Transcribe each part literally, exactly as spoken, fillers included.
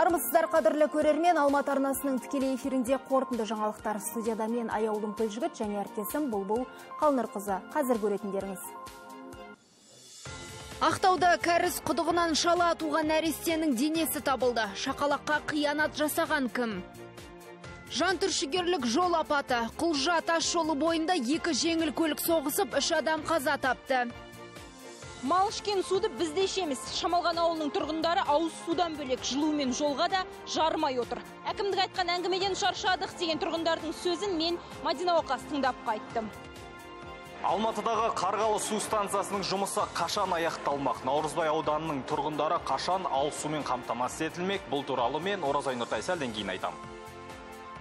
Армысыздар қадірлі көрермен, Алматы арнасының тікелей эфирінде қорытынды жаңалықтар. Студияда мен Аяулым Көлжігіт және әріптесім Бұлбұл Қалнырқызы. Қазір көретіндеріңіз. Ақтауда кәріз құдығынан шала туған нәрестенің денесі табылды. Шақалаққа қиянат жасаған кім? Жантүршігерлік жол апаты. Құлжа тас жолы бойында екі жеңіл көлік соғысып, үш адам қаза тапты. Мал ішкен суды біз де ішеміз. Шамалған ауылының тұрғындары ауыз судан бөлек жылу мен жолға да жармай отыр. Әкімдік айтқан әңгімеден шаршадық деген тұрғындардың сөзін мен Мадина Оқас тыңдап қайттым. Алматыдағы Қарғалы су станциясының жұмысы қашан аяқталмақ? Наурызбай ауданының тұрғындары қашан ауыз сумен қамтамасыз етілмек? Бұл туралы мен Оразай Нұртай сәлден кейін айтам.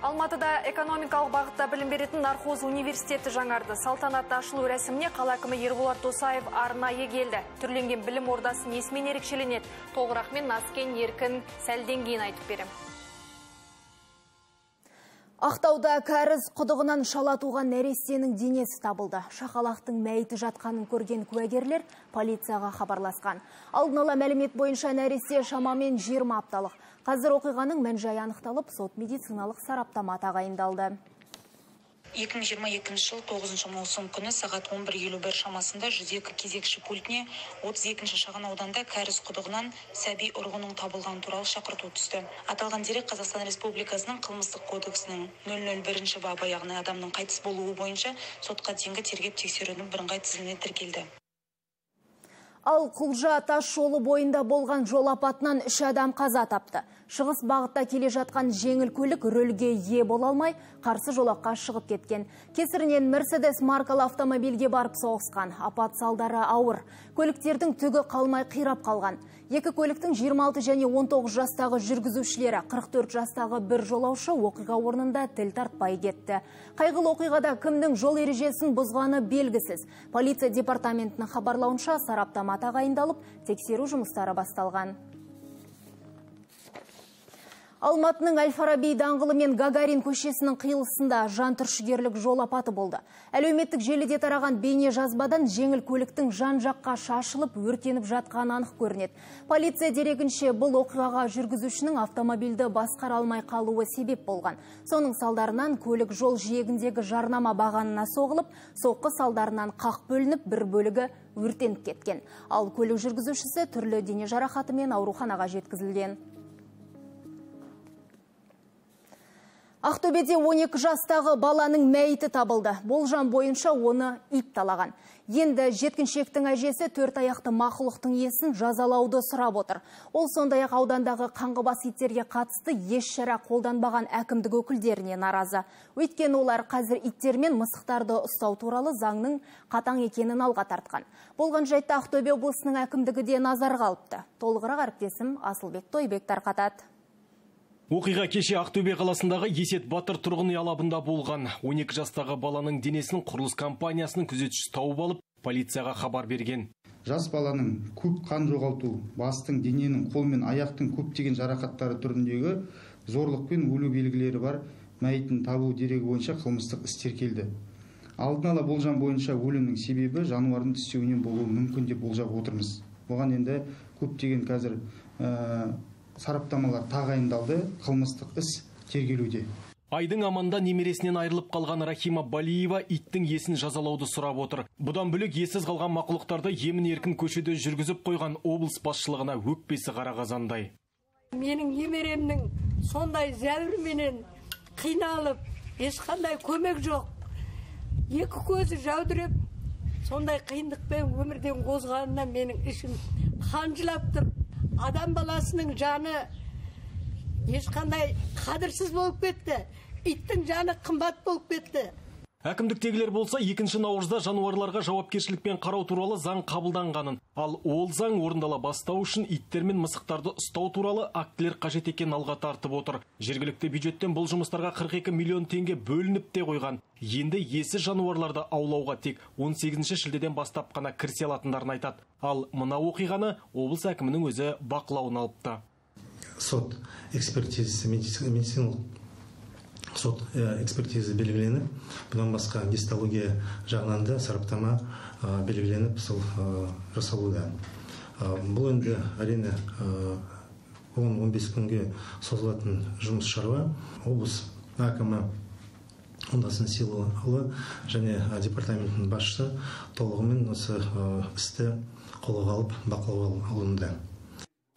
Алматыда экономикалық бағытта білім беретін Нархоз университеті жаңарды. Салтанатты ашылу рәсіміне қала әкімі Ерболат Досаев арнайы келді. Түрленген білім ордасы несімен ерекшеленеді? Толығырақпен Наскен Еркін сәлден кейін айтып берем. Ақтауда кәріз құдығынан шала туған нәрестенің денесі табылды. Шақалақтың мәйіті жатқанын көрген куәгерлер полицияға хабарласқан. Алдын ала мәлімет бойынша нәресте шамамен жиырма апталық. Қазір оқиғаның мән-жайы анықталып, сот медициналық сараптама тағайындалды. екі мың жиырма екінші жыл тоғызыншы маусым күні сағат он бір елу бір шамасында жүз екі кезекші пультіне отыз екінші шағын ауданда кәріз құдығынан сәби ұрығының табылған туралы шақырту түсті. Аталған дерек Қазақстан Республикасының қылмыстық кодексінің нөл нөл бірінші бабы, яғни адамның қайтыс болуы бойынша сотқа дейінгі тергеп тексерудің бірыңғай тізіміне тіркелді. Ал Құлжа тас жолы бойында болған жол апатынан үш адам қаза тапты. Шығыс бағытта келе жатқан жеңіл көлік рөлге ие бола алмай, қарсы жолаққа шығып кеткен. Кесірінен Мерседес маркалы автомобильге барып соғысқан. Апат салдары ауыр. Көліктердің түгі қалмай қирап қалған. Екі көліктің жиырма алты және он тоғыз жастағы жүргізушілері, қырық төрт жастағы бір жолаушы оқиға орнында тіл тартпай кетті. Қайғылы оқиғада кімнің жол ережесін бұзғаны белгісіз. Полиция департаментінің хабарлауынша сараптама тағайындалып, тексеру жұмыстары басталған. Алматының Әл-Фараби даңғылы мен Гагарин көшесінің қиылысында жантүршігерлік жол апаты болды. Әлеуметтік желіде тараған бейне жазбадан жеңіл көліктің жан-жаққа шашылып, өртеніп жатқаны анық көрінеді. Полиция дерегінше бұл оқиғаға жүргізушінің автомобильді басқара алмай қалуы себеп болған. Соның салдарынан көлік жол жиегіндегі жарнама бағанына соғылып, соққы салдарынан қақ бөлініп, бір бөлігі өртеніп кеткен. Ал көлік жүргізушісі түрлі дене жарақатымен ауруханаға жеткізілген. Ақтөбеде он екі жастағы баланың мәйіті табылды. Болжам бойынша оны ит талаған. Енді жеткіншектің әжесі төрт аяқты мақұлықтың иесін жазалауды сұрап отыр. Ол сондай-ақ аудандағы қаңғыбас иттерге қатысты еш шара қолданбаған әкімдік өкілдеріне наразы. Өйткені олар қазір иттер мен мысықтарды ұстау туралы заңның қатаң екенін алға тартқан. Болған жайтта Ақтөбе облысының әкімдігі де назарға алыпты. Толығырақ әріптесім Асылбек Тойбек тарқатады. Оқиға кеше Ақтөбе қаласындағы Есет Батыр тұрғын үй алабында болған. он екі жастағы баланың денесін құрылыс компаниясының күзетшісі тауып алып, полицияға хабар берген. Жас баланың көп қан жоғалту, бастың, дененің, қол мен аяқтың көптеген жарақаттары түріндегі зорлық пен өлу белгілері бар мәйітін табу дерегі бойынша қылмыстық іс тіркелді. Алдын ала болжам бойынша өлімнің себебі жануардың тістеуінен болуы мүмкін деп болжап отырмыз. Оған енді көптеген қазір ә, сараптамалар тағайындалды, қылмыстық іс тергелуде. Айдың аманда немересінен айырылып қалған Рахима Балиева иттің есін жазалауды сұрап отыр. Бұдан бөлек ессіз қалған мақұлықтарды емін-еркін көшеде жүргізіп қойған облыс басшылығына өкпесі қара қазандай. Менің немеремнің сондай зәуірменен қиналып, ешқандай көмек жоқ. Екі көзі жаудырып, сондай қиындықпен өмірден қозғанына менің ішім қанжылап тұр. Адам баласының жаны ешқандай қадірсіз болып кетті. Иттің жаны қымбат болып кетті. Әкімдіктегілер болса екінші наурызда жануарларға жауапкершілікпен қарау туралы заң қабылданғанын, ал ол заң орындала бастау үшін иттер мен мысықтарды ұстау туралы актілер қажет екенін алға тартып отыр. Жергілікті бюджеттен бұл жұмыстарға қырық екі миллион теңге бөлініп те қойған. Енді иесіз жануарларды аулауға тек он сегізінші шілдеден бастап қана кірісе алатындарын айтады. Ал мына оқиғаны облыс әкімінің өзі бақылауына алыпты. Сот экспертизасы медициналық сот экспертизасы белгіленіп, бұдан басқа гистология жағынан да сараптама белгіленіп, сол жасалуда. Бұл енді әрине он он бес күнге созылатын жұмыс шаруа. Облыс әкімі Оңдасын Силуұлы және департаменттің басшысы толығымен осы істі қолға алып бақылауға алынды.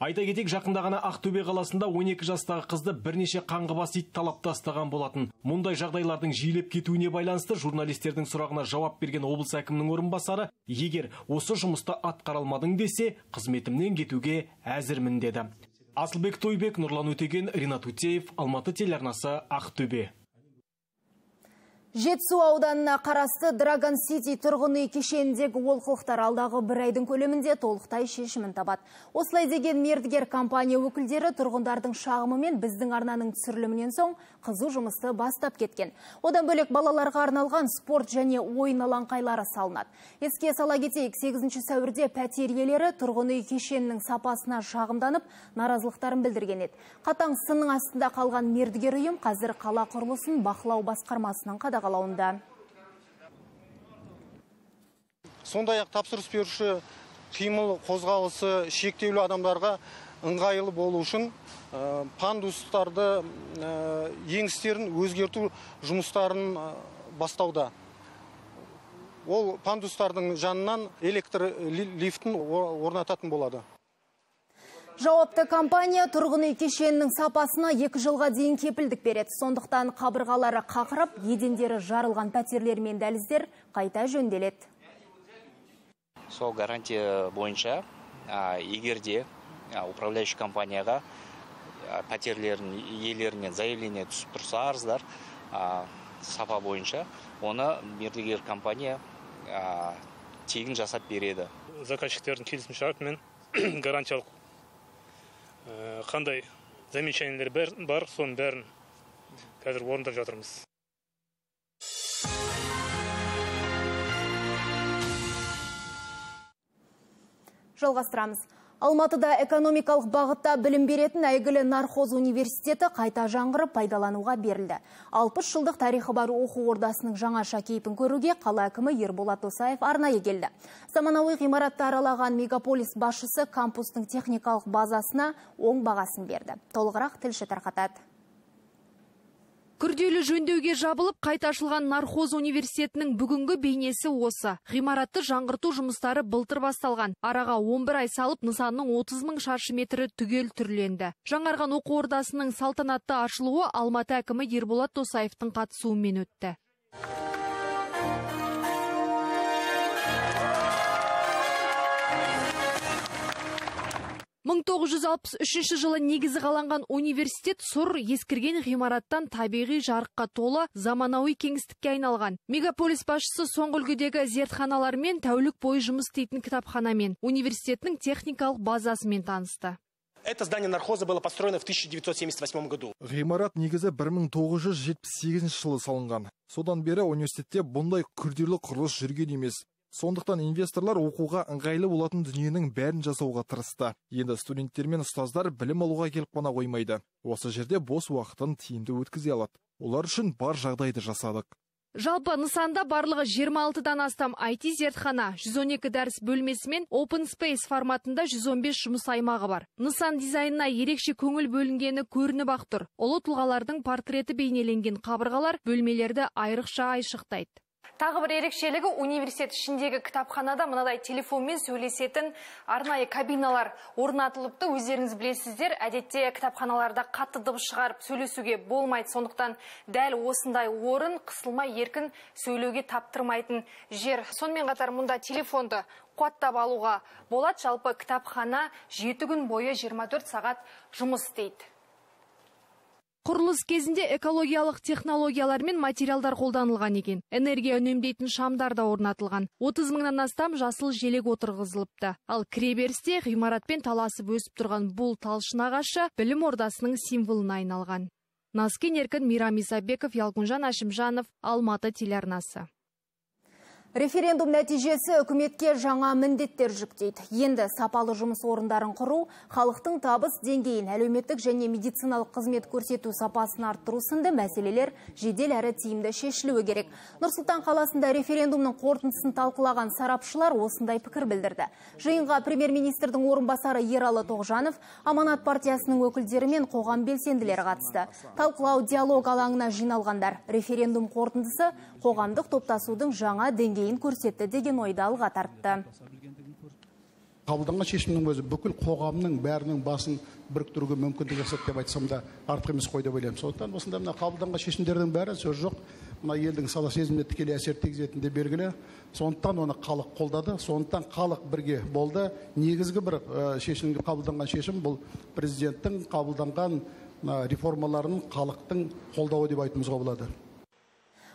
Айта кетейік, жақында ғана Ақтөбе қаласында он екі жастағы қызды бірнеше қаңғыбас ит талап тастаған болатын. Мұндай жағдайлардың жиілеп кетуіне байланысты журналистердің сұрағына жауап берген облыс әкімінің орынбасары, егер осы жұмысты атқаралмадың десе, қызметімнен кетуге әзірмін деді. Асылбек Тойбек, Нұрлан Өтеген, Ринат Утеев, Алматы телеарнасы, Ақтөбе. Жетісу ауданына қарасты Драгон Сити тұрғын үй кешеніндегі олқылықтар алдағы бір айдың көлемінде толықтай шешімін табады. Осылай деген мердігер компания өкілдері тұрғындардың шағымы мен біздің арнаның түсірілімінен соң қызу жұмысты бастап кеткен. Одан бөлек балаларға арналған спорт және ойын алаңқайлары салынады. Еске сала кетейік, сегізінші сәуірде пәтер иелері тұрғын үй кешенінің сапасына шағымданып, наразылықтарын білдірген еді. Қатаң сынның астында қалған мердігер ұйым қазір қала құрылысын бақылау басқармасының қадағалауында. Сондай-ақ тапсырыс беруші қимыл қозғалысы шектеулі адамдарға ыңғайлы болу үшін пандустарды еңістерін өзгерту жұмыстарын бастауда. Ол пандустардың жанынан электр лифтін орнататын болады. Жауапты компания тұрғын үй кешенінің сапасына екі жылға дейін кепілдік береді. Сондықтан қабырғалары қақырып, едендері жарылған пәтерлер мен дәліздер қайта жөнделеді. Сол гарантия бойынша егерде управляющий компанияға пәтерлерін иелерінен заявление түсіп тұрса арыздар сапа бойынша, оны мердігер компания тегін жасап береді. Заказчиктердің келісім шартымен гарантиялық қандай замечаниелер бар, соның бәрін қазір орындап жатырмыз. Жалғастырамыз. Алматыда экономикалық бағытта білім беретін әйгілі Нархоз университеті қайта жаңғырып пайдалануға берілді. алпыс жылдық тарихы бар оқу ордасының жаңаша кейпін көруге қала әкімі Ерболат Досаев арнайы келді. Заманауи ғимаратты аралаған мегаполис басшысы кампустың техникалық базасына оң бағасын берді. Толығырақ тілші тарқатады. Күрделі жөндеуге жабылып, қайта ашылған Нархоз университетінің бүгінгі бейнесі осы. Ғимаратты жаңғырту жұмыстары былтыр басталған. Араға он бір ай салып, нысанның отыз мың шаршы метрі түгел түрленді. Жаңарған оқу ордасының салтанатты ашылуы Алматы әкімі Ерболат Досаевтың қатысуымен өтті. мың тоғыз жүз алпыс үшінші жылы негізі қаланған университет сұр ескірген ғимараттан табиғи жарыққа толы заманауи кеңістікке айналған. Мегаполис басшысы соңғы үлгідегі зертханалармен, тәулік бойы жұмыс істейтін кітапханамен, университеттің техникалық базасымен танысты. Это здание Нархоза было построено в тысяча девятьсот семьдесят восьмом году. Ғимарат негізі бір мың тоғыз жүз жетпіс сегізінші жылы салынған. Содан бері университетте бұндай күрделі құрылыс жүрген емес. Сондықтан инвесторлар оқуға ыңғайлы болатын дүниенің бәрін жасауға тырысты. Енді студенттер мен ұстаздар білім алуға келіп қана қоймайды. Осы жерде бос уақытын тиімді өткізе алады. Олар үшін бар жағдайды жасадық. Жалпы нысанда барлығы жиырма алтыдан астам ай ти зертхана, жүз он екі дәріс бөлмесі мен Open Space форматында жүз он бес жұмыс аймағы бар. Нысан дизайнына ерекше көңіл бөлінгені көрініп ақ тұр. Ұлы тұлғалардың портреті бейнеленген қабырғалар бөлмелерді айрықша айшықтайды. Тағы бір ерекшелігі университет ішіндегі кітапханада мынадай телефонмен сөйлесетін арнайы кабиналар орнатылыпты. Өздеріңіз білесіздер, әдетте кітапханаларда қатты дыбыс шығарып сөйлесуге болмайды. Сондықтан дәл осындай орын қысылмай еркін сөйлеуге таптырмайтын жер. Сонымен қатар мұнда телефонды қуаттап алуға болады. Жалпы кітапхана жеті күн бойы жиырма төрт сағат жұмыс істейді. Құрылыс кезінде экологиялық технологиялар мен материалдар қолданылған екен. Энергия үнемдейтін шамдар да орнатылған. отыз мыңнан астам жасыл желек отырғызылыпты. Ал кіреберісте ғимаратпен таласып өсіп тұрған бұл талшын ағашы білім ордасының символына айналған. Назкен Еркін, Мирам Исабеков, Ялгунжан Ашимжанов, Алматы телеарнасы. Референдум нәтижесі үкіметке жаңа міндеттер жүктейді. Енді сапалы жұмыс орындарын құру, халықтың табыс деңгейін, әлеуметтік және медициналық қызмет көрсету сапасын арттыру сынды мәселелер жедел әрі тиімді шешілуі керек. Нұр-Сұлтан қаласында референдумның қорытындысын талқылаған сарапшылар осындай пікір білдірді. Жиынға премьер-министрдің орынбасары Ералы Тоғжанов, Аманат партиясының өкілдері мен қоғам белсенділері қатысты. Талқылау диалог алаңына жиналғандар. Референдум қорытындысы қоғамдық топтасудың жаңа деңгейін көрсетті деген ойды алға тартты. Қабылданған шешімнің өзі бүкіл қоғамның бәрінің басын біріктіруге мүмкіндік жасады деп айтсам да артық емес қой деп ойлаймын. Сондықтан осында мына қабылданған шешімдердің бәрі сөз жоқ, мына елдің сана сезіміне тікелей әсер тигізетіні де белгілі. Сондықтан оны халық қолдады, сондықтан халық бірге болды. Негізгі бір шешімге қабылданған шешім бұл президенттің қабылданған реформаларының халықтың қолдауы деп айтуымызға болады.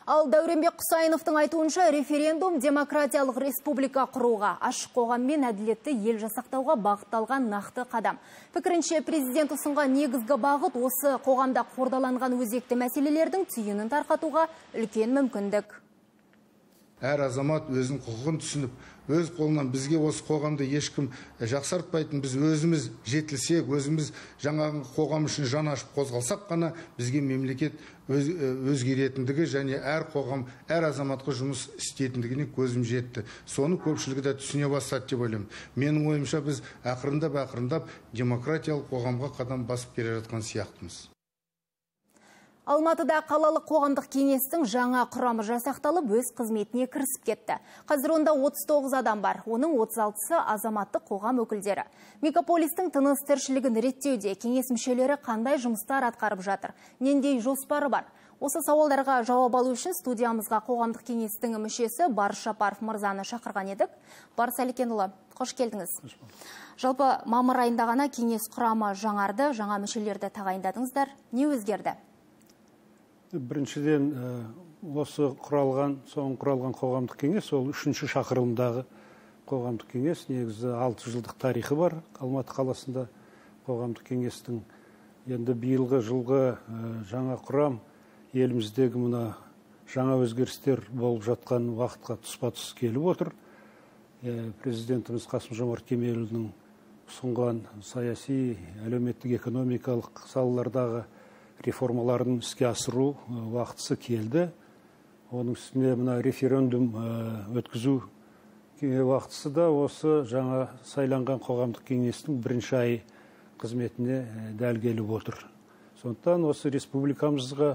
Ал Дәуренбек Құсайыновтың айтуынша референдум демократиялық республика құруға, ашық қоғам мен әділетті ел жасақтауға бағытталған нақты қадам. Пікірінше президент ұсынған негізгі бағыт осы қоғамда қордаланған өзекті мәселелердің түйінін тарқатуға үлкен мүмкіндік. Әр азамат өзінің құқығын түсініп, өз қолынан бізге осы қоғамды ешкім жақсартпайтын, біз өзіміз жетілсек, өзіміз жаңағы қоғам үшін жан ашып қозғалсақ қана бізге мемлекет өз, өзгеретіндігі және әр қоғам, әр азаматқа жұмыс істейтіндігіне көзім жетті. Соны көпшілігі де түсіне бастады деп ойлаймын. Менің ойымша біз ақырындап ақырындап демократиялық қоғамға қадам басып келе жатқан сияқтымыз. Алматыда қалалық қоғамдық кеңестің жаңа құрамы жасақталып, өз қызметіне кірісіп кетті. Қазір онда отыз тоғыз адам бар, оның отыз алтысы азаматтық қоғам өкілдері. Мегаполистің тыныс тіршілігін реттеуде кеңес мүшелері қандай жұмыстар атқарып жатыр, нендей жоспары бар? Осы сауалдарға жауап алу үшін студиямызға қоғамдық кеңестің мүшесі Барыс Жапаров мырзаны шақырған едік. Барыс Әликенұлы, қош келдіңіз. Жалпы мамыр айында ғана кеңес құрамы жаңарды, жаңа мүшелерді тағайындадыңыздар. Не өзгерді? Біріншіден, осы құралған, соң құралған қоғамдық кеңес, ол үшінші шақырылымдағы қоғамдық кеңес, негізі алты жылдық тарихы бар Алматы қаласында қоғамдық кеңестің. Енді биылғы жылғы жаңа құрам еліміздегі мына жаңа өзгерістер болып жатқан уақытқа тұспа-тұс келіп отыр. Президентіміз Қасым-Жомарт Кемелұлының ұсынған саяси, әлеуметтік, экономикалық салалардағы реформаларын іске асыру уақытысы келді. Оның үстіне мына референдум өткізу уақытысы да осы жаңа сайланған қоғамдық кеңестің бірінші ай қызметіне дәл келіп отыр. Сондықтан осы республикамызға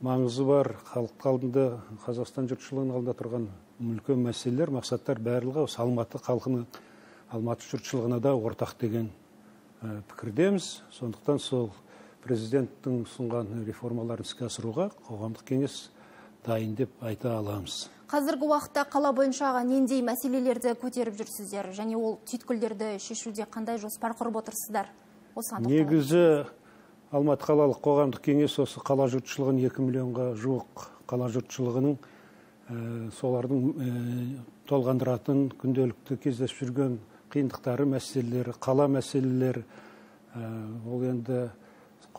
маңызы бар, халық алдында, Қазақстан жұртшылығының алдында тұрған үлкен мәселелер, мақсаттар барлығы осы Алматы халқының, Алматы жұртшылығына да ортақ деген пікірдеміз. Сондықтан сол президенттің ұсынған реформаларын іске асыруға қоғамдық кеңес дайын деп айта аламыз. Қазіргі уақытта қала бойынша нендей мәселелерді көтеріп жүрсіздер, және ол түйткілдерді шешуде қандай жоспар құрып отырсыздар? Негізі Алматы қалалық қоғамдық кеңес осы қала жұртшылығын екі миллионға жуық қала жұртшылығының солардың толғандыратын күнделікті кездесіп жүрген қиындықтары, мәселелері, қала мәселелері, ол енді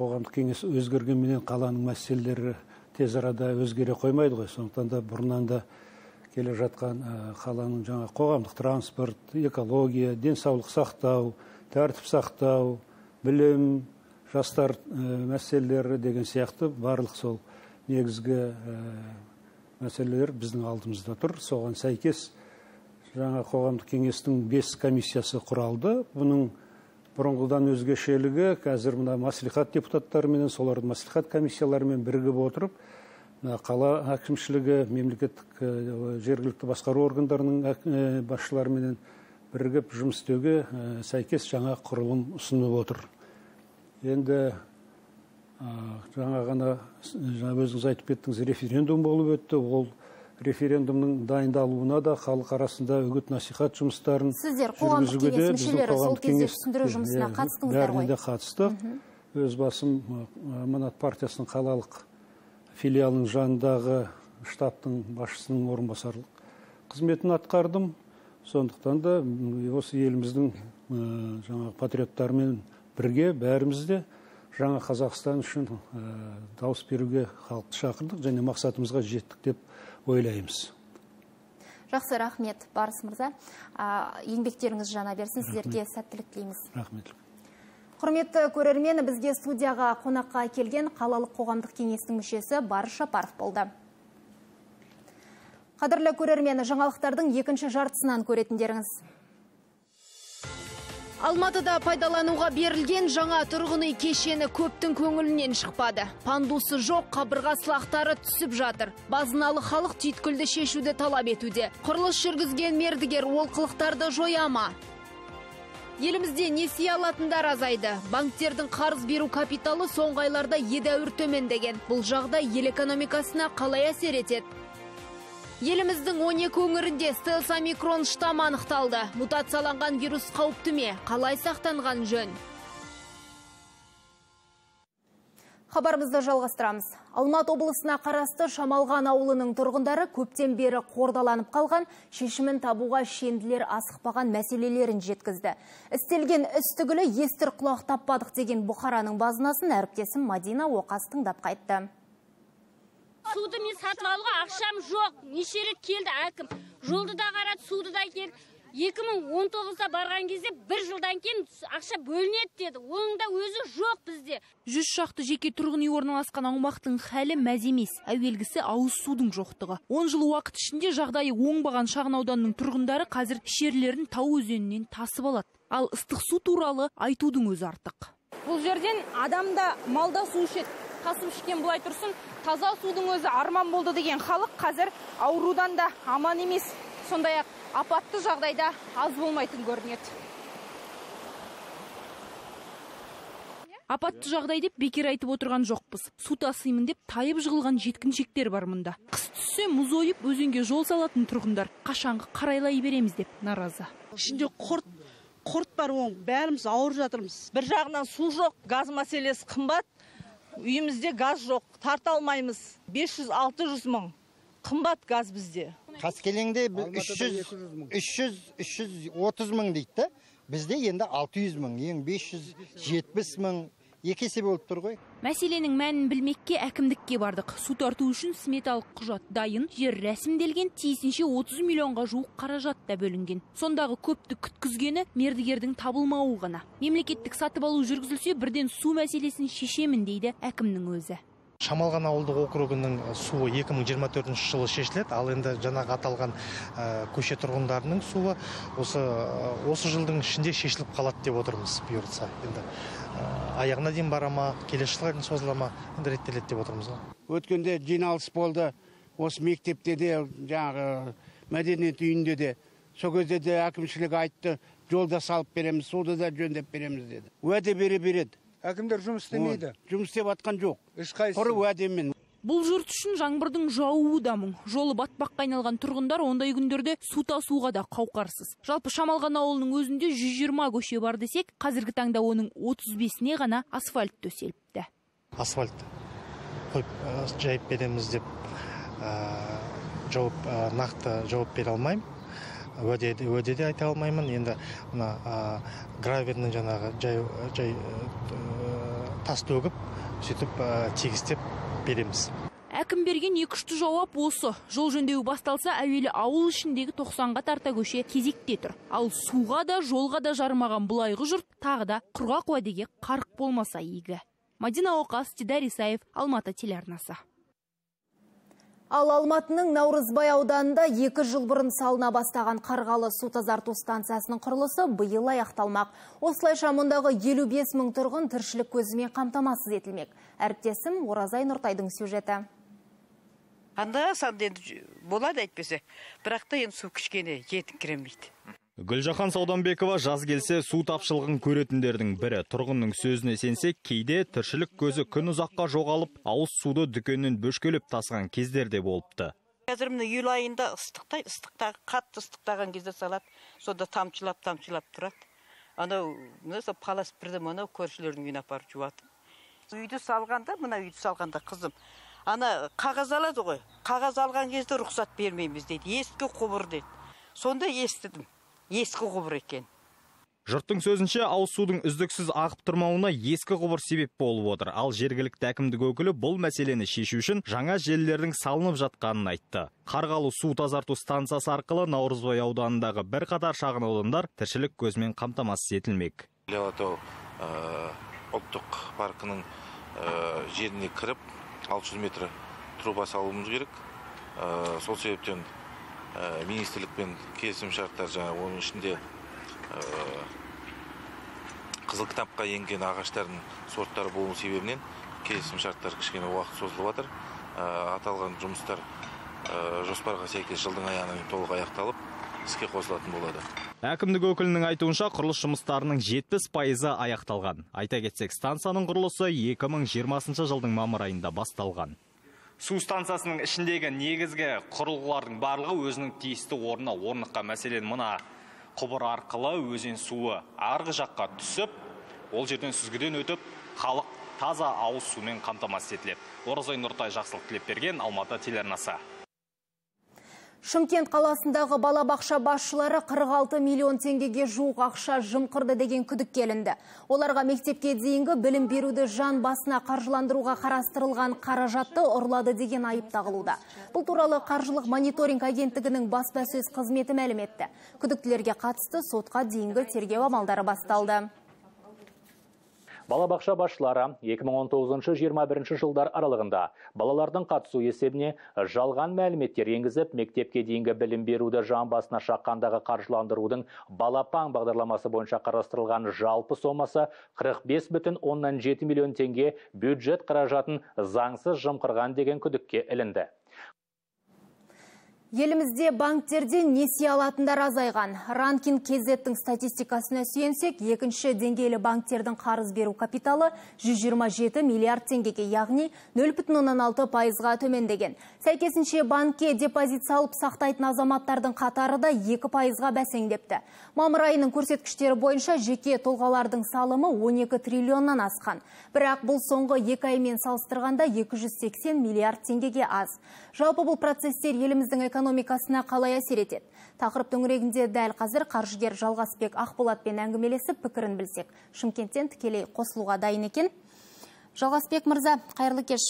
қоғамдық кеңес өзгергенменен қаланың мәселелері тез арада өзгере қоймайды ғой. Сондықтан да бұрыннан да келе жатқан қаланың жаңа қоғамдық транспорт, экология, денсаулық сақтау, тәртіп сақтау, білім, жастар мәселелері деген сияқты барлық сол негізгі мәселелер біздің алдымызда тұр. Соған сәйкес жаңа қоғамдық кеңестің бес комиссиясы құралды. Бұның бұрынғыдан өзгешелігі қазір мына мәслихат депутаттарымен, солардың мәслихат комиссияларымен бірігіп отырып, қала әкімшілігі, мемлекеттік жергілікті басқару органдарының басшыларымен бірігіп жұмыс істеуге сәйкес жаңа құрылым ұсынып отыр. Енді жаңа ғана өзіңіз айтып кеттіңіз, референдум болып өтті. Ол референдумның дайындалуына да халық арасында үгіт насихат жұмыстарын сіздер қоғамдық кеңес мүшелері сол кезде түсіндіру жұмысына қатыстыңыздар ғой? Бәріне қатыстық. Өз басым Аманат партиясының қалалық филиалының жанындағы штабтың басшысының орынбасарлық қызметін атқардым. Сондықтан да осы еліміздің жаңа патриоттарымен бірге бәрімізде жаңа Қазақстан үшін дауыс беруге халықты шақырдық және мақсатымызға жеттік деп ойлаймыз. Жақсы, рахмет, Барыс мырза. Еңбектеріңіз жана берсін, сіздерге сәттілік тілейміз. Рахмет. Құрметті көрермен, бізге студияға қонаққа келген қалалық қоғамдық кеңестің мүшесі Барыс Жапаров болды. Қадірлі көрермен, жаңалықтардың екінші жартысынан көретіндеріңіз. Алматыда пайдалануға берілген жаңа тұрғын үй кешені көптің көңілінен шықпады. Пандусы жоқ, қабырға сылақтары түсіп жатыр. Базыналы халық түйткілді шешуді талап етуде. Құрылыс жүргізген мердігер олқылықтарды жояма. Елімізде несие алатындар азайды. Банктердің қарыз беру капиталы соңғы айларда едәуір төмендеген. Бұл жағдай ел экономикасына қалай әсер етеді? Еліміздің он екі өңірінде стелс омикрон штаммы анықталды. Мутацияланған вирус қауіпті ме? Қалай сақтанған жөн? Хабарымызды жалғастырамыз. Алматы облысына қарасты Шамалған ауылының тұрғындары көптен бері қордаланып қалған, шешімін табуға шенділер асықпаған мәселелерін жеткізді. Істелген іс түгілі естір құлақ таппадық деген Бұқараның базынасын әріптесім Мадина Оқас тыңдап қайтты. Суды мен сатып алуға ақшам жоқ. Неше рет келді әкім. Жолды да қарады, суды да келді. екі мың он тоғызда барған кезде бір жылдан кейін ақша бөлінеді деді. Оның да өзі жоқ бізде. Жүз шақты жеке тұрғын үй орналасқан аумақтың хәлі мәз емес. Әуелгісі ауыз судың жоқтығы. он жыл уақыт ішінде жағдайы оңбаған шағын ауданның тұрғындары қазір ішерлерін тау өзенінен тасып алады. Ал ыстық су туралы айтудың өзі артық. Бұл жерден адамда малда су ішеді. Тасып ішкен бұлай тұрсын, таза судың өзі арман болды деген халық қазір аурудан да аман емес. Сондай-ақ апатты жағдайда аз болмайтын көрінеді. Апатты жағдай деп бекер айтып отырған жоқпыз. Су тасимын деп тайып жығылған жеткіншектер бар мұнда. Қыс түссе мұз ойып өзенге жол салатын тұрғындар қашанғы қарайлай береміз деп наразы. Ішінде құрт, құрт бар, оң бәріміз ауырып жатырмыз. Бір жағынан су жоқ, газ мәселесі қымбат. Үйімізде газ жоқ, тарта алмаймыз. бес жүз алты жүз мың қымбат газ бізде. Қаскелеңде үш жүз үш жүз отыз мың дейді. Бізде енді алты жүз мың, ең бес жүз жетпіс мың, екі есе болып тұр ғой. Мәселенің мәнін білмекке әкімдікке бардық. Су тарту үшін сметалық құжат дайын, жер рәсімделген, тиісінше отыз миллионға жуық қаражат та бөлінген. Сондағы көпті күткізгені мердігердің табылмауы ғана. Мемлекеттік сатып алу жүргізілсе, бірден су мәселесін шешемін дейді әкімнің өзі. Шамалған ауылдық округінің суы екі мың жиырма төртінші жылы шешіледі, ал енді жаңағы аталған көше тұрғындарының суы осы осы жылдың ішінде шешіліп қалады деп отырмыз, бұйыртса. Енді аяғына дейін барама, келесі жылға дейін созылама, енді реттеледі деп отырмыз. Өткенде жиналыс болды, осы мектепте де, жаңағы мәдениет үйінде де, сол кезде де әкімшілік айтты, жолда салып береміз, суды да жөндеп береміз деді. Уәде бере береді. Әкімдер жұмыс істемейді. Жұмыс істеп атқан жоқ. Құры уәдемен. Бұл жұрт үшін жаңбырдың жауы да мұң. Жолы батпаққа айналған тұрғындар ондай күндерде су тасуға да қауқарсыз. Жалпы Шамалған ауылының өзінде жүз жиырма көше бар десек, қазіргі таңда оның отыз бесіне ғана асфальт төселіпті. Асфальт қойып жайып береміз деп жауап нақты жауап бере алмаймын. Уәде де айта алмаймын. Енді мына гравердің жаңағы жай тас төгіп, сөйтіп тегістеп береміз. Әкім берген екішті жауап осы. Жол жөндеуі басталса, әуелі ауыл ішіндегі тоқсанға тарта көше кезекте тұр. Ал суға да, жолға да жармаған бұлайғы жұрт тағы да құрғақ уәдеге қарық болмаса игі. Мадина Оқас, Дидар Исаев, Алматы телеарнасы. Ал Алматының Наурызбай ауданында екі жыл бұрын салына бастаған Қарғалы су тазарту станциясының құрылысы биыл аяқталмақ. Осылайша мұндағы елу бес мың тұрғын тіршілік көзімен қамтамасыз етілмек. Әріптесім Оразай Нұртайдың сюжеті. Анда санда енді болады әйтпесе, бірақ та енді су кішкене жетіңкіремейді. Гүлжахан Сауданбекова жаз келсе су тапшылығын көретіндердің бірі. Тұрғынның сөзіне сенсек, кейде тіршілік көзі күн ұзаққа жоғалып, ауыз суды дүкеннен бөшкелеп тасыған кездерде болыпты. Қазір міне июль айында ыстықтай, ыстықтағы қатты ыстықтаған кезде салады, сонда тамшылап тамшылап тұрады. Анау сол палас бірді мынау көршілердің үйіне апарып жуады. Үйді салғанда, мына үйді салғанда қызым, ана қағаз алады ғой. Қағаз алған кезде рұқсат бермейміз дейді. Ескі құбыр дейді. Сонда естідім. Ескі құбыр екен. Жұрттың сөзінше, ауыз судың үздіксіз ағып тұрмауына ескі құбыр себеп болып отыр. Ал жергілікті әкімдік өкілі бұл мәселені шешу үшін жаңа желілердің салынып жатқанын айтты. Қарғалы су тазарту станциясы арқылы Наурызбай ауданындағы бір қатар шағын аудандар тіршілік көзімен қамтамасыз етілмек. Іле-алатау ұлттық паркінің жеріне кіріп алты жүз метр труба салуымыз керек. Сол себептен министрлікпен келісім шарттар, жаңа оның ішінде қызыл кітапқа енген ағаштардың сорттары болу себебінен келісім шарттар кішкене уақыт созылып жатыр. Аталған жұмыстар жоспарға сәйкес жылдың аяғына толық аяқталып, іске қосылатын болады. Әкімдік өкілінің айтуынша құрылыс жұмыстарының жетпіс пайызы аяқталған. Айта кетсек, станцияның құрылысы екі мың жиырмасыншы жылдың мамыр айында басталған. Су станциясының ішіндегі негізгі құрылғылардың барлығы өзінің тиісті орнына орныққан. Мәселен, мына құбыр арқылы өзен суы арғы жаққа түсіп, ол жерден сүзгіден өтіп, халық таза ауыз сумен қамтамасыз етіледі. Оразай Нұртай, Жақсылық Тілепберген, Алматы телеарнасы. Шымкент қаласындағы балабақша басшылары қырық алты миллион теңгеге жуық ақша жымқырды деген күдік келінді. Оларға мектепке дейінгі білім беруді жан басына қаржыландыруға қарастырылған қаражатты ұрлады деген айып тағылуда. Бұл туралы қаржылық мониторинг агенттігінің баспасөз қызметі мәлім етті. Күдіктілерге қатысты сотқа дейінгі тергеу амалдары басталды. Балабақша басшылары екі мың он тоғызыншы жиырма бірінші жылдар аралығында балалардың қатысу есебіне жалған мәліметтер енгізіп, мектепке дейінгі білім беруді жан басына шаққандағы қаржыландырудың балапан бағдарламасы бойынша қарастырылған жалпы сомасы қырық бес бүтін оннан жеті миллион теңге бюджет қаражатын заңсыз жымқырған деген күдікке ілінді. Елімізде банктерден несие алатындар азайған. Ранкин Кезеттің статистикасына сүйенсек, екінші деңгейлі банктердің қарыз беру капиталы жүз жиырма жеті миллиард теңгеге, яғни нөл бүтін оннан алты пайызға төмендеген. Сәйкесінше банкке депозит салып сақтайтын азаматтардың қатары да екі пайызға бәсеңдепті. Мамыр айының көрсеткіштері бойынша жеке тұлғалардың салымы он екі триллионнан асқан. Бірақ бұл соңғы екі аймен салыстырғанда екі жүз сексен миллиард теңгеге аз. Жалпы бұл процесстер еліміздің экономикасына қалай әсер етеді? Тақырып төңірегінде дәл қазір қаржыгер Жалғасбек Ақболатпен әңгімелесіп пікірін білсек. Шымкенттен тікелей қосылуға дайын екен. Жалғасбек мырза, қайырлы кеш.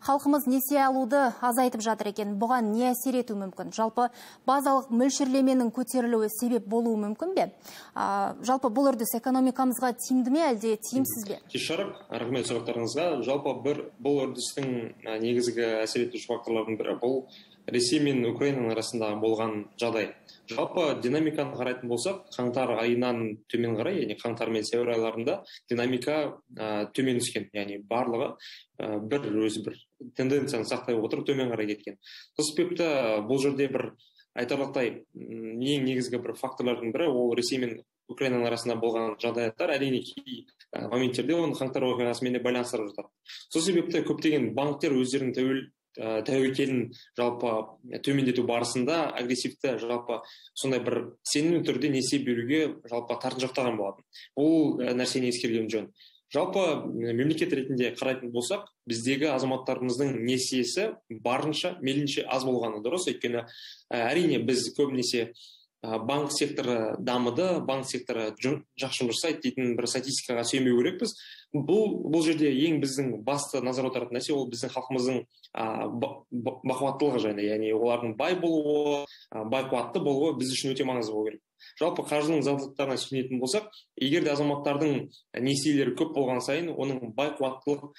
Халқымыз несие алуды азайтып жатыр екен. Бұған не әсер ету мүмкін? Жалпы базалық мөлшерлеменің көтерілуі себеп болуы мүмкін бе? А, жалпы бұл үрдіс экономикамызға тиімді ме, әлде тиімсіз бе? Кеш жарық, рахмет сұрақтарыңызға. Жалпы бір бұл үрдістің негізгі әсер етуші факторлардың бірі бұл Ресей мен Украинаның арасындағы болған жағдай. Жалпы динамиканы қарайтын болсақ, қаңтар айынан төмен қарай, яғни қаңтар мен сәуір айларында динамика ә, төмен түскен, яғни барлығы ә, бір өзі бір тенденцияны сақтай отырып төмен қарай кеткен. Сол себепті бұл жерде бір айтарлықтай ең негізгі бір факторлардың бірі ол Ресей мен Украинаның арасында болған жағдаяттар, әрине кей моменттерде оны қаңтар оқиғасымен де байланыстырып жатыр. Сол себепті көптеген банктер өздерінің тәуел тәуекелін жалпы төмендету барысында агрессивті жалпы сондай бір сенімді түрде несие беруге жалпы тартыншақтаған болатын. Бұл нәрсені ескерген жөн. Жалпы мемлекет ретінде қарайтын болсақ, біздегі азаматтарымыздың несиесі барынша мейлінше аз болғаны дұрыс. Өйткені әрине біз көбінесе банк секторы дамыды, банк секторы жақсы жұмыс жасайды дейтін бір статистикаға сүйенбеу керекпіз. Бұл бұл жерде ең біздің басты назар аударатын нәрсе ол біздің халқымыздың бақуаттылығы жайында, яғни олардың бай болуы, бай қуатты болуы біз үшін өте маңызды болу керек. Жалпы қаржының заңдылықтарына сүйенетін болсақ, егер де азаматтардың несиелері көп болған сайын, оның бай қуаттылық,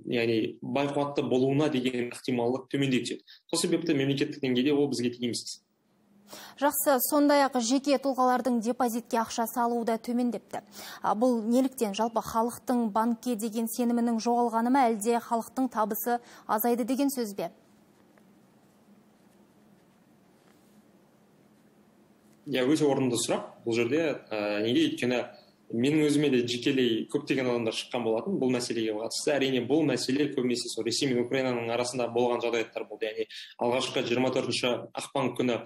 яғни бай қуатты болуына деген ықтималдық төмендей түседі. Сол себепті мемлекеттік деңгейде ол бізге тиімсіз. Жақсы, сондай-ақ жеке тұлғалардың депозитке ақша салуы да төмендепті. Бұл неліктен? Жалпы халықтың банкке деген сенімінің жоғалғаны ма, әлде халықтың табысы азайды деген сөз бе? Я өте орынды сұрақ. Бұл жерде неге өйткені менің өзіме де жекелей көптеген адамдар шыққан болатын бұл мәселеге қатысты. Әрине бұл мәселе көбінесе сол Ресей мен Украинаның арасында болған жағдаяттар болды. Яғни алғашқы жиырма төртінші ақпан күні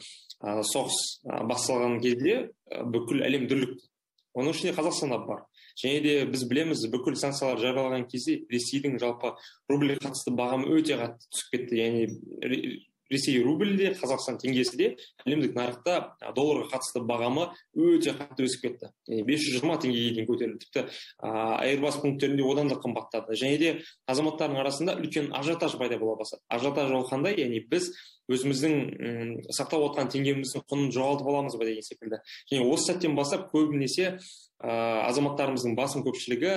соғыс басталған кезде бүкіл әлем дүрлікті. Оның ішінде Қазақстан да бар. Және де біз білеміз, бүкіл санкциялар жарияланған кезде Ресейдің жалпы рубльге қатысты бағамы өте қатты түсіп кетті. Яғни Ресей рубль де, Қазақстан теңгесі де әлемдік нарықта долларға қатысты бағамы өте қатты өсіп кетті. бес жүз жиырма теңгеге дейін көтерілді. Тіпті айырбас пункттерінде одан да қымбаттады. Және де азаматтардың арасында үлкен ажиотаж пайда бола бастады. Ажиотаж ол қандай? Яғни біз өзіміздің сақтап отқан теңгеміздің құнын жоғалтып аламыз ба деген секілді. Және осы сәттен бастап көбінесе азаматтарымыздың басым көпшілігі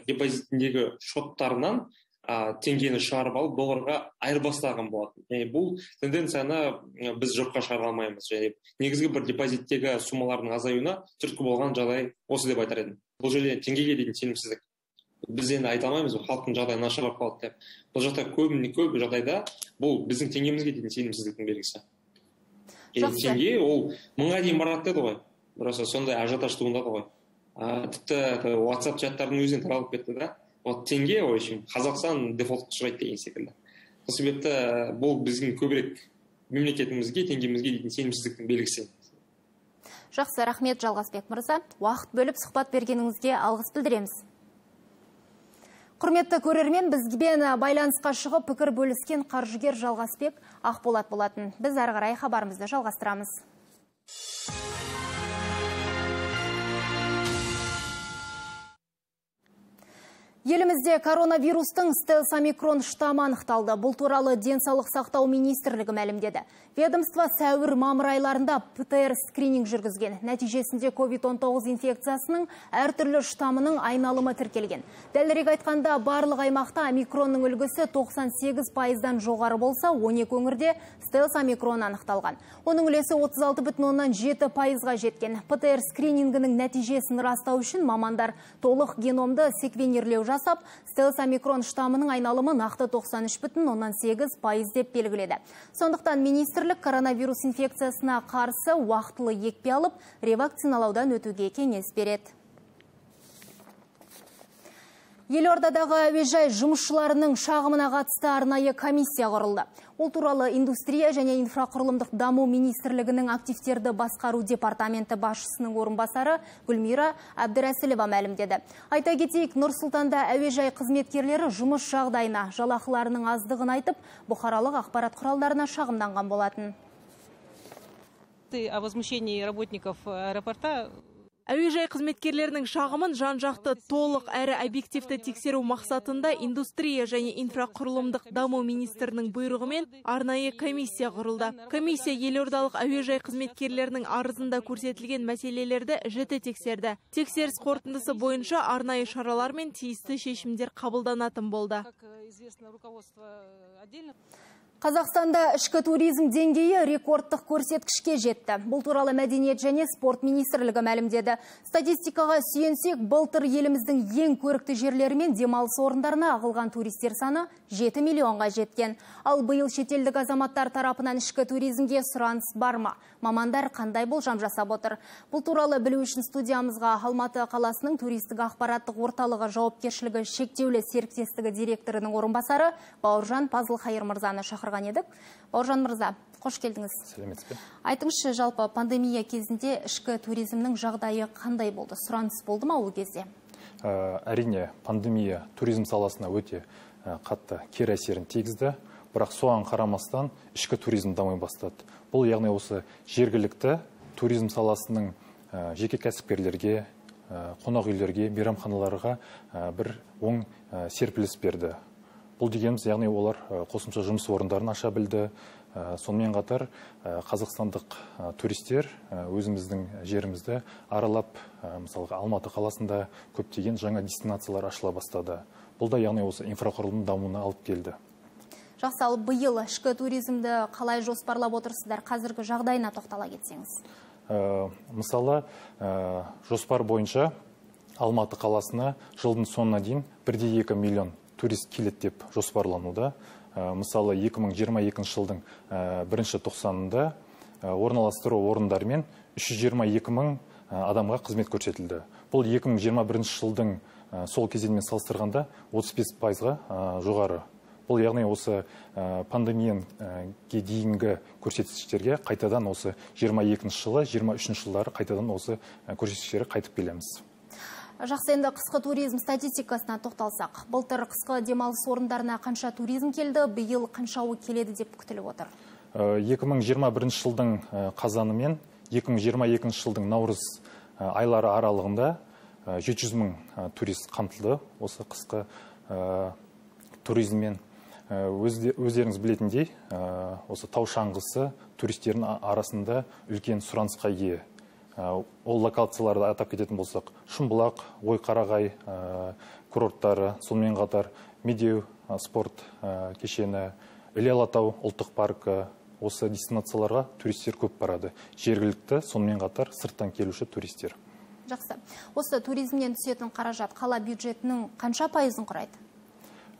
депозитіндегі шоттарынан теңгені шығарып алып долларға айырбастаған болатын. Яғни бұл тенденцияны біз жоққа шығара алмаймыз. Және негізгі бір депозиттегі суммалардың азаюына түрткі болған жағдай осы деп айтар едім. Бұл жерде теңгеге деген сенімсіздік. Біз енді айта алмаймыз, халықтың жағдайы нашарлап қалды деп. Бұл жақта көбіне көп жағдайда бұл біздің теңгемізге деген сенімсіздіктің белгісі. Теңге ол мыңға дейін барады деді ғой. Просто сондай ажиотаж туындады ғой. Тіпті WhatsApp чаттардың өзінен таралып кетті да. Вот теңге, в общем, Қазақстан дефолтқа ұшырайды деген секілді. Сол себепті бұл біздің көбірек мемлекетімізге, теңгемізге деген сенімсіздіктің белгісі. Жақсы, рахмет Жалғасбек мырза. Уақыт бөліп сұхбат бергеніңізге алғыс білдіреміз. Құрметті көрермен, бізбен байланысқа шығып пікір бөліскен қаржыгер Жалғасбек Ақболат болатын. Біз ары қарай хабарымызды жалғастырамыз. Елімізде коронавирустың стелс омикрон штаммы анықталды. Бұл туралы денсаулық сақтау министрлігі мәлімдеді. Ведомство сәуір мамыр айларында пэ тэ эр скрининг жүргізген. Нәтижесінде ковид он тоғыз инфекциясының әртүрлі штаммының айналымы тіркелген. Дәлірек айтқанда, барлық аймақта омикронның үлгісі тоқсан сегіз пайыздан жоғары болса, он екі өңірде стелс омикрон анықталған. Оның үлесі отыз алты бүтін оннан жеті пайызға жеткен. пэ тэ эр скринингінің нәтижесін растау үшін мамандар толық геномды секвенерлеу жасап, стелс омикрон штаммының айналымы нақты тоқсан үш бүтін оннан сегіз пайыз деп белгіледі. Сондықтан министрлік коронавирус инфекциясына қарсы уақытылы екпе алып, ревакциналаудан өтуге кеңес береді. Елордадағы әуежай жұмысшыларының шағымына қатысты арнайы комиссия құрылды. Ол туралы индустрия және инфрақұрылымдық даму министрлігінің активтерді басқару департаменті басшысының орынбасары Гүлмира Әбдірәсілова мәлімдеді. Айта кетейік, Нұр-Сұлтанда әуежай қызметкерлері жұмыс жағдайына, жалақыларының аздығын айтып, бұқаралық ақпарат құралдарына шағымданған болатын. О возмущении работников аэропорта Әуежай қызметкерлерінің шағымын жан-жақты толық әрі объективті тексеру мақсатында индустрия және инфрақұрылымдық даму министрінің бұйрығымен арнайы комиссия құрылды. Комиссия елордалық әуежай қызметкерлерінің арызында көрсетілген мәселелерді жіті тексерді. Тексеріс қорытындысы бойынша арнайы шаралар мен тиісті шешімдер қабылданатын болды. Қазақстанда ішкі туризм деңгейі рекордтық көрсеткішке жетті. Бұл туралы мәдениет және спорт министрлігі мәлімдеді. Статистикаға сүйенсек, былтыр еліміздің ең көрікті жерлері мен демалыс орындарына ағылған туристер саны жеті миллионға жеткен. Ал биыл шетелдік азаматтар тарапынан ішкі туризмге сұраныс бар ма? Мамандар қандай болжам жасап отыр? Бұл туралы білу үшін студиямызға Алматы қаласының туристік ақпараттық орталығы жауапкершілігі шектеулі серіктестігі директорының орынбасары Бауыржан Пазылхайыр мырзаны шақырған едік. Бауыржан мырза, қош келдіңіз. Сәлеметсіз бе? Айтыңызшы, жалпы пандемия кезінде ішкі туризмнің жағдайы қандай болды? Сұраныс болды ма ол кезде? Әрине, пандемия туризм саласына өте қатты кері әсерін тигізді. Бірақ соған қарамастан ішкі туризм дамай бастады. Бұл яғни осы жергілікті туризм саласының жеке кәсіпкерлерге, қонақ үйлерге, мейрамханаларға бір оң серпіліс берді. Бұл дегеніміз, яғни олар қосымша жұмыс орындарын аша білді. Сонымен қатар қазақстандық туристер өзіміздің жерімізді аралап, мысалға Алматы қаласында көптеген жаңа дестинациялар ашыла бастады. Бұл да яғни осы инфрақұрылым дамуына алып келді. Жақсы, ал биыл ішкі туризмді қалай жоспарлап отырсыздар? Қазіргі жағдайына тоқтала кетсеңіз. Мысалы, жоспар бойынша Алматы қаласына жылдың соңына дейін бір де екі миллион турист келеді деп жоспарлануда. Мысалы, екі мың жиырма екінші жылдың бірінші тоқсанында орналастыру орындарымен үш жүз жиырма екі мың адамға қызмет көрсетілді. Бұл екі мың жиырма бірінші жылдың сол кезеңмен салыстырғанда отыз бес пайызға жоғары. Бұл яғни осы пандемияға дейінгі көрсеткіштерге қайтадан осы жиырма екінші жылы, жиырма үшінші жылдары қайтадан осы көрсеткіштерге қайтып келеміз. Жақсы, енді қысқы туризм статистикасына тоқталсақ. Былтыр қысқы демалыс орындарына қанша туризм келді, биыл қаншауы келеді деп күтіліп отыр? екі мың жиырма бірінші жылдың қазаны мен екі мың жиырма екінші жылдың наурыз айлары аралығында жеті жүз мың турист қамтылды осы қысқы туризммен. Өздеріңіз білетіндей, осы тау шаңғысы туристердің арасында үлкен сұранысқа ие. Ол локацияларды атап кететін болсақ, Шымбұлақ, Ойқарағай курорттары, сонымен қатар Медеу спорт кешені, Іле Алатау ұлттық паркі, осы дестинацияларға туристер көп барады. Жергілікті, сонымен қатар сырттан келуші туристер. Жақсы. Осы туризмнен түсетін қаражат қала бюджетінің қанша пайызын құрайды?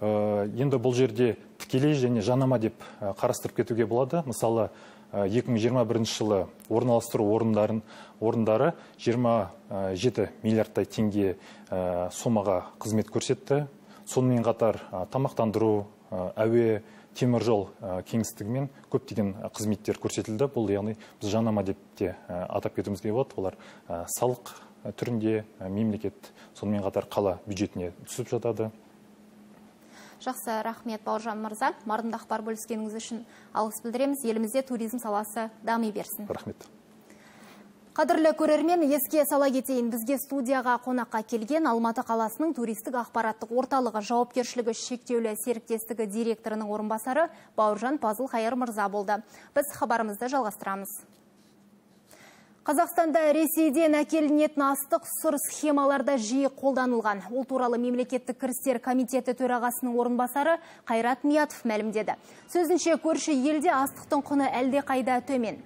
Енді бұл жерде тікелей және жанама деп қарастырып кетуге болады. Мысалы, екі мың жиырма бірінші жылы орналастыру орындарын орындары жиырма жеті миллиардтай теңге сомаға қызмет көрсетті. Сонымен қатар тамақтандыру, әуе, теміржол кеңістігімен көптеген қызметтер көрсетілді. Бұл яғни біз жанама деп те атап кетуімізге болады. Олар салық түрінде мемлекет, сонымен қатар қала бюджетіне түсіп жатады. Жақсы, рахмет Бауыржан мырза. Мардымды ақпар бөліскеніңіз үшін алғыс білдіреміз. Елімізде туризм саласы дами берсін. Рахмет. Қадірлі көрермен, еске сала кетейін, бізге студияға қонаққа келген Алматы қаласының туристік ақпараттық орталығы жауапкершілігі шектеулі серіктестігі директорының орынбасары Бауыржан Пазыл Қайыр мырза болды. Біз хабарымызды жалғастырамыз. Қазақстанда Ресейден әкелінетін астық сұр схемаларда жиі қолданылған. Ол туралы мемлекеттік кірістер комитеті төрағасының орынбасары Қайрат Миятов мәлімдеді. Сөзінше, көрші елде астықтың құны әлде қайда төмен.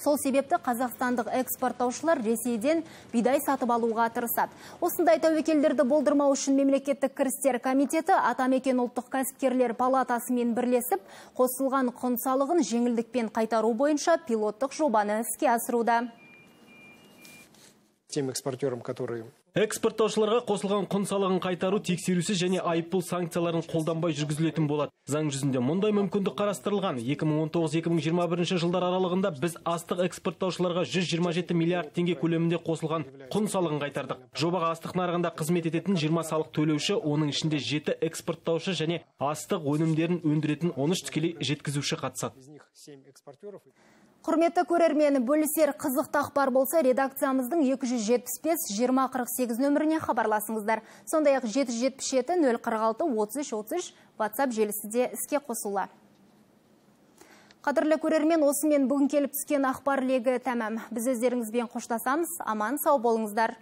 Сол себепті қазақстандық экспорттаушылар Ресейден бидай сатып алуға тырысады. Осындай тәуекелдерді болдырмау үшін мемлекеттік кірістер комитеті Атамекен ұлттық кәсіпкерлер палатасымен бірлесіп, қосылған құн салығын жеңілдікпен қайтару бойынша пилоттық жобаны іске асыруда. Тем экспортерам, которые... Экспорттаушыларға қосылған құн салығын қайтару тексерусіз және айыппұл санкцияларын қолданбай жүргізілетін болады. Заң жүзінде мұндай мүмкіндік қарастырылған. екі мың он тоғыз екі мың жиырма бірінші жылдар аралығында біз астық экспорттаушыларға жүз жиырма жеті миллиард теңге көлемінде қосылған құн салығын қайтардық. Жобаға астық нарығында қызмет ететін жиырма салық төлеуші, оның ішінде жеті экспорттаушы және астық өнімдерін өндіретін он үш тікелей жеткізуші қатысады. Құрметті көрермені, бөлісер қызықты ақпар болса, редакциямыздың екі жүз жетпіс бес жиырма қырық сегіз нөміріне хабарласыңыздар. Сондай-ақ жеті жүз жетпіс жеті нөл қырық алты отыз үш отыз үш WhatsApp желісі де іске қосыла. Қадірлі көрермен, осымен бүгін келіп түскен ақпар легі тәмам. Біз өздеріңізбен қоштасамыз. Аман сау болыңыздар.